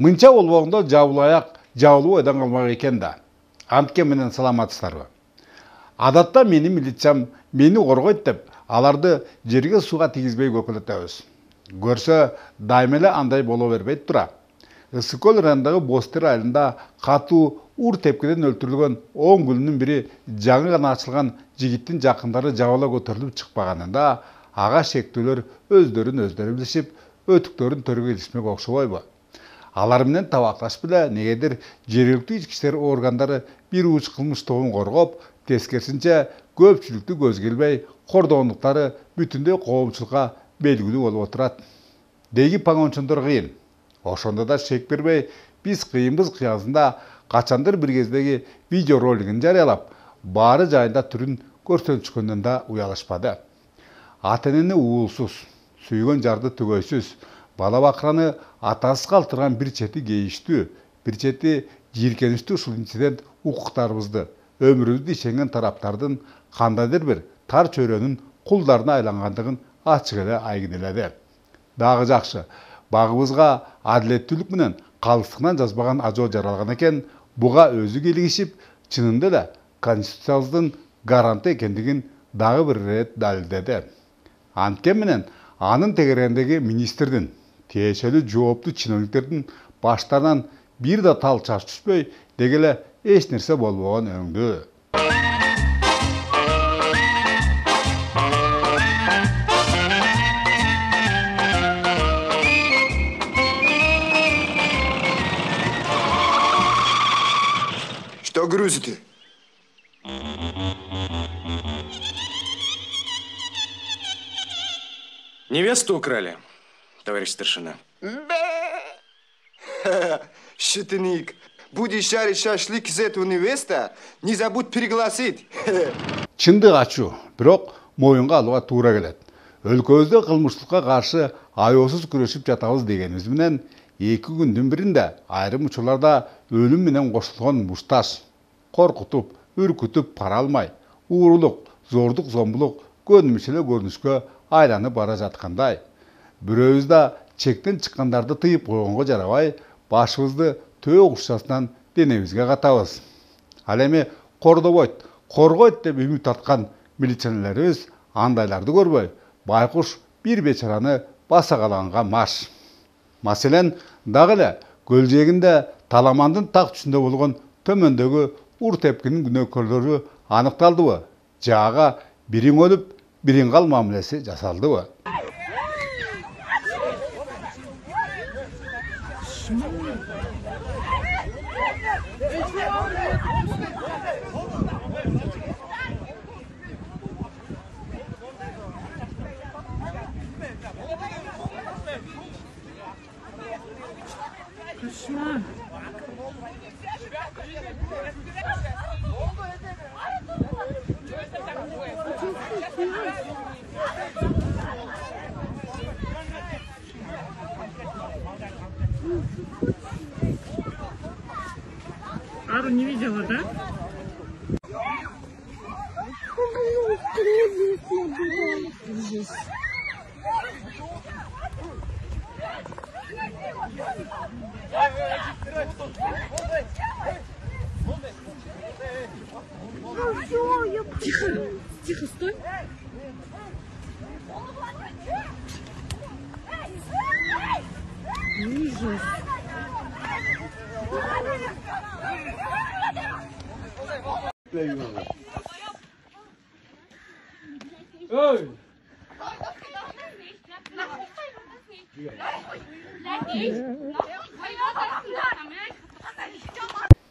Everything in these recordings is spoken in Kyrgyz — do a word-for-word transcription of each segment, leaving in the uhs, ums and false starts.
Мынча болбогондо жабыл аяк жабылып ойдан калмак экен да. Антке менен саламатсыздарбы? Адатта менин милициям мени коргойт деп, аларды жерге сууга тийгизбей көкөлөтөбүз. Көрсө дайыма эле андай боло бербейт тура. Ысык көл районундагы Бостер айылында катуу ур тепкиден өлтүрүлгөн он күнүнүн бири жаңы гана ачылган жигиттин жакындары жабыла көтөрүлүп чыкпаганында ага шектүүлөр өздөрүн өздөрү билишип, өтүктөрүн төргө илишмек окшобойбу? Алар менен табакташып эле негедир жергиликтүү ички иштер органдары бир уч кылмыш тобун коргоп, тескерисинче көпчүлүктү көзгө илбей кордогондуктары бүтүндөй коомчулукка белгилүү болуп отурат. Деги паңончондор кыйын. Ошондо да шек бербей, биз кыйынбыз кыязында качандыр бир кездеги видео ролигин жарыялап, баары жайында түрүн көрсөтүшкөндөн да уялышпады. Ата-энени уулсуз, сүйгөн жарды түгөйсүз, бала бакыраны атасыз калтырган бир чети кейиштүү, бир чети жийиркеничтүү ушул инцидент укуктарыбызды, өмүрүбүздү ишенген тараптардын кандайдыр бир тар чөйрөнүн кулдарына айлангандыгын ачык эле айгинеледи. Дагы жакшы, багыбызга адилеттүүлүк менен калыстыгынан жазбаган ажоо жаралган экен, буга өзү кийлигишип, чынында эле конституциябыздын гаранты экендигин дагы бир ирет далилдеди. Антке менен анын тегерегиндеги министрдин, тиешелүү жооптуу чиновниктердин баштарынан бир да тал чач түшпөй, деги эле эч нерсе болбогон өңдүү. Что грузите? Невесту украли, товарищ старшина. Шутник, будешь жарить шашлык из этого невеста, не забудь пригласить. Чындык ачуу, бирок моюнга алууга туура келет. Өлкөбүздө кылмыштыкка каршы аеосуз күрөшүп жатабыз дегенибиз менен эки күндүн биринде айрым учурларда өлүм менен кошулгон мушташ, коркутуп, үркүтүп пара алмай, уурулук, зордук, зомбулук көнүмүш эле көрүнүшкө айланып бара жаткандай. Бирөөбүз да чектен чыккандарды тыйып койгонго жарабай, башыбызды төө кушчасынан денебизге катабыз. Ал эми кордобойт, коргойт деп үмүт аткан милиционерлерибиз андайларды көрбөй, байкуш бир бечараны басакалаганга маш. Маселен, дагы эле көл жээгинде Таламандын так түшүндө болгон төмөндөгү ур тепкинин күнөөкөрлөрү аныкталдыбы? Же ага бириң өлүп, бириң кал мамилеси жасалдыбы? Ару не видела, да? Тихо, тихо, стой. Ужас. Эй!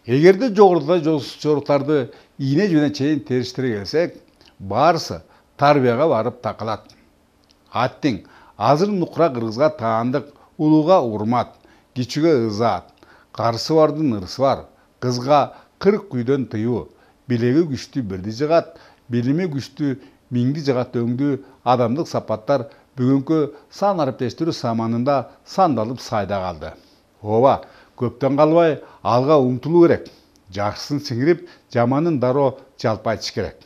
Эгерде жогоруда жоруктарды ийне жөнө чейин териштире келсек, баарысы тарбияга барып такалат. Аттиң азыр нукура кыргызга таандык улууга урмат, кичүүгө ызаат, карысы бардын ырысы бар, кызга кырк күйдөн тыюу, билеги күчтүү бирди жыгат, билими күчтүү миңди жыгат өңдүү адамдык сапаттар бүгүнкү сан ариптештирүү саманында сандалып сайда калды. Ооба, көптөн калбай алга умтулуу керек. Жакшысын сиңирип, жаманын дароо жалпай ичиш керек.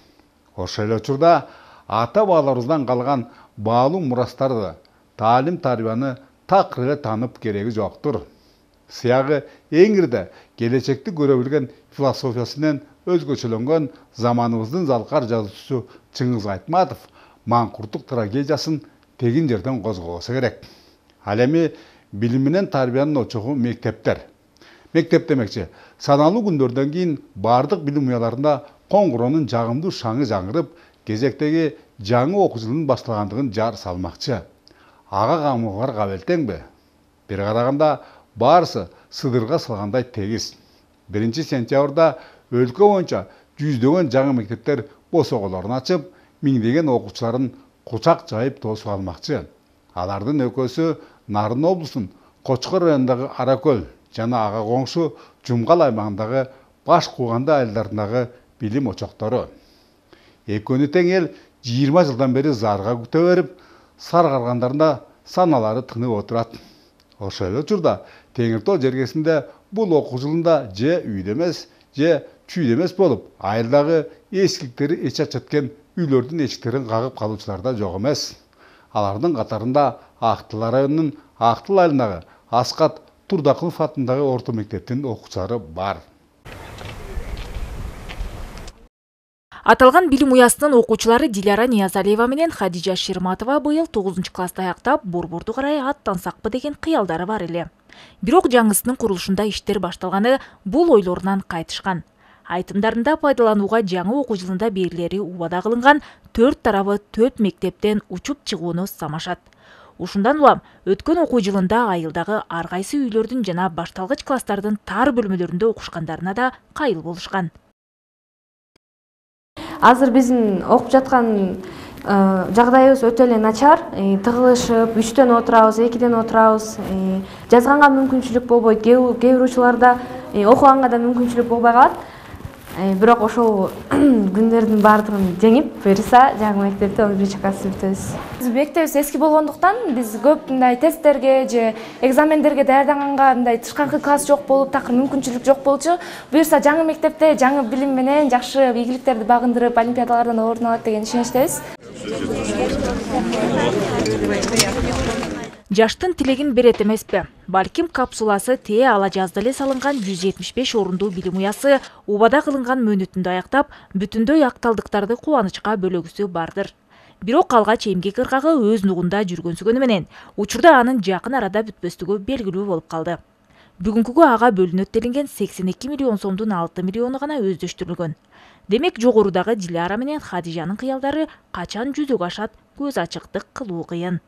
Ошол эле учурда ата бабаларыбыздан калган баалуу мурастарды, таалим тарбияны такыр эле танып кереги жоктур. сыягы эңирде келечекти көрө билген философиясынан өзгөчөлөнгөн заманыбыздын залкар жазуучусу Чыңгыз Айтматов маңкурттук трагедиясын тегин жерден козгобосо керек. Ал эми билим менен тарбиянын очогу мектептер. Мектеп демекчи, саналуу күндөрдөн кийин бардык билим уяларында коңгуронун жагымдуу шаңы жаңырып, кезектеги жаңы окуу жылынын башталгандыгын жар салмакчы. Ага камылгар кабелтеңби? Бир караганда баарысы сыдырга салгандай тегиз. биринчи сентябрда өлкө боюнча жүздөгөн жаңы мектептер босоголорун ачып, миңдеген окуучуларын кучак жайып тосуп алмакчы. Алардын экөөсү Нарын облусунун Кочкор районундагы Аракөл жана ага коңшу Жумгал аймагындагы Баш Кууганды айылдарындагы билим очоктору. Экөөнү тең эл жыйырма жылдан бери зарга күтө берип, Сар Каргандарында саналары тынып отурат. Ошол эле учурда Теңир Тоо жергесинде бул окуу жылында же үйдө эмес, же чүйдө эмес болуп, айылдагы эскиликтери эч ачаткен үйлөрдүн эшиктерин кагып калуучулар да жок эмес. Алардын катарында Актыл районунун Актыл айылындагы Аскат Турдакулов атындагы орто мектептин окуучулары бар. Аталган билим уясынын окуучулары Диляра Ниязалиева менен Хадижа Ширматова быйыл тогузунчу класста аяктап, борборду карай аттансакпы деген кыялдары бар эле. Бирок жаңысынын курулушунда иштер башталганы бул ойлорунан кайтышкан. Айтымдарында пайдаланууга жаңы окуу жылында берилери убада кылынган төрт тарабы төрт мектептен учуп чыгууну самашат. Ушундан улам өткөн окуу жылында айылдагы ар кайсы үйлөрдүн жана башталгыч класстардын тар бөлмөлөрүндө окушкандарына да кайыл болушкан. Азыр биздин окуп жаткан жагдайыбыз өтө эле начар. Тыгылышып, үчтөн отурабыз, экиден отурабыз. Жазганга мүмкүнчүлүк болбойт. Кээ бир учурларда окуганга да мүмкүнчүлүк болбой калат. Бирок ошол күндөрдүн баардыгын жеңип, буюрса жаңы мектепте он биринчи классты бүтөбүз. Биз мектебибиз эски болгондуктан биз көп мындай тесттерге же экзамендерге даярданганга мындай тышкаркы класс жок болуп, такыр мүмкүнчүлүк жок болчу. Буюрса жаңы мектепте жаңы билим менен жакшы ийгиликтерди багындырып, олимпиадалардан орун алат деген ишеничтебиз. Жаштын тилегин берет эмеспи? Балким капсуласы тээ ала жазда эле салынган жүз жетимиш беш орундуу билим уясы убада кылынган мөөнөтүндө аяктап, бүтүндөй акталдыктарды кубанычка бөлөгүсү бардыр. Бирок алгач эмгек ыргагы өз нугунда жүргөнсүгөнү менен, учурда анын жакын арада бүтпөстүгү белгилүү болуп калды. Бүгүнкүгө ага бөлүнөт делинген сексен эки миллион сомдун алты миллиону гана өздөштүрүлгөн. Демек жогорудагы Диляра менен Хадижанын кыялдары качан жүзөгө ашат, көз ачыктык кылуу кыйын.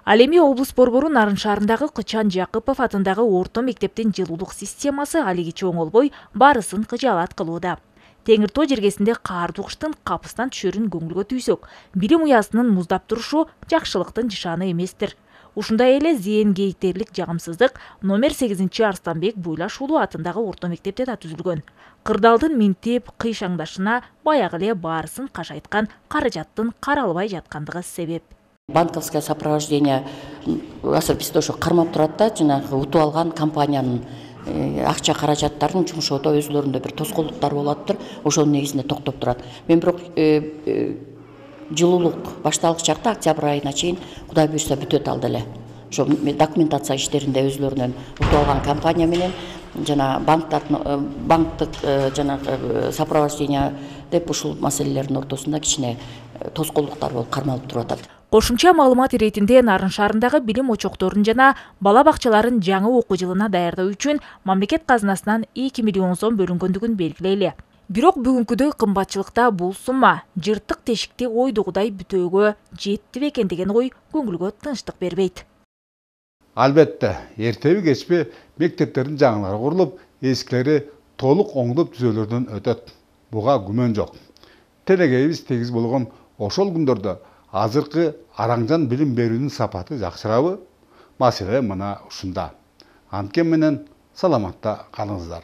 Ал эми облус борбору Нарын шаарындагы Кычан Жакыпов атындагы орто мектептин жылуулук системасы алигиче оңолбой баарысын кыжаалат кылууда. Теңир Тоо жергесинде каардуу кыштын капыстан түшөрүн көңүлгө түйсөк, билим уясынын муздап турушу жакшылыктын нышаны эместир. Ушундай эле зээн кейтерлик жагымсыздык номер сегизинчи Арстанбек Буйлаш уулу атындагы орто мектепте да түзүлгөн. Кырдаалдын минтип кыйшаңдашына баягы эле баарысын кашайткан каражаттын каралбай жаткандыгы себеп. Банковское сопровождение азыр бизде ошо кармап турат да, жанагы утуп алган компаниянын акча каражаттарын жумшоодо өзлөрүндө бир тоскоолдуктар болуп атыптыр. Ошонун негизинде токтоп турат. Мен бирок жылуулук башталгыч чакта октябрь айына чейин Кудай буйрса бүтөт алды эле. Ошо документация иштеринде өзлөрүнөн утуп алган компания менен жана банктардын банктык жанагы сопровождение деп ушул маселелердин ортосунда кичине тоскоолдуктар болуп кармалып туруп атат. Кошумча маалымат иретинде Нарын шаарындагы билим очокторун жана бала бакчаларын жаңы окуу жылына даярдоо үчүн мамлекет казынасынан эки миллион сом бөлүнгөндүгүн белгилейли. Бирок бүгүнкүдөй кымбатчылыкта бул сумма жыртык тешикти ойдогудай бүтөөгө жетти бекен деген ой көңүлгө тынчтык бербейт. Албетте, эртеби кечпи мектептердин жаңылары курулуп, эскилери толук оңдоп түзөөлөрдөн өтөт. Буга күмөн жок. Телегейибиз тегиз болгон ошол күндөрдө азыркы араңжан билим берүүнүн сапаты жакшырабы? Маселе мына ушунда. Анткени менен саламатта калыңыздар.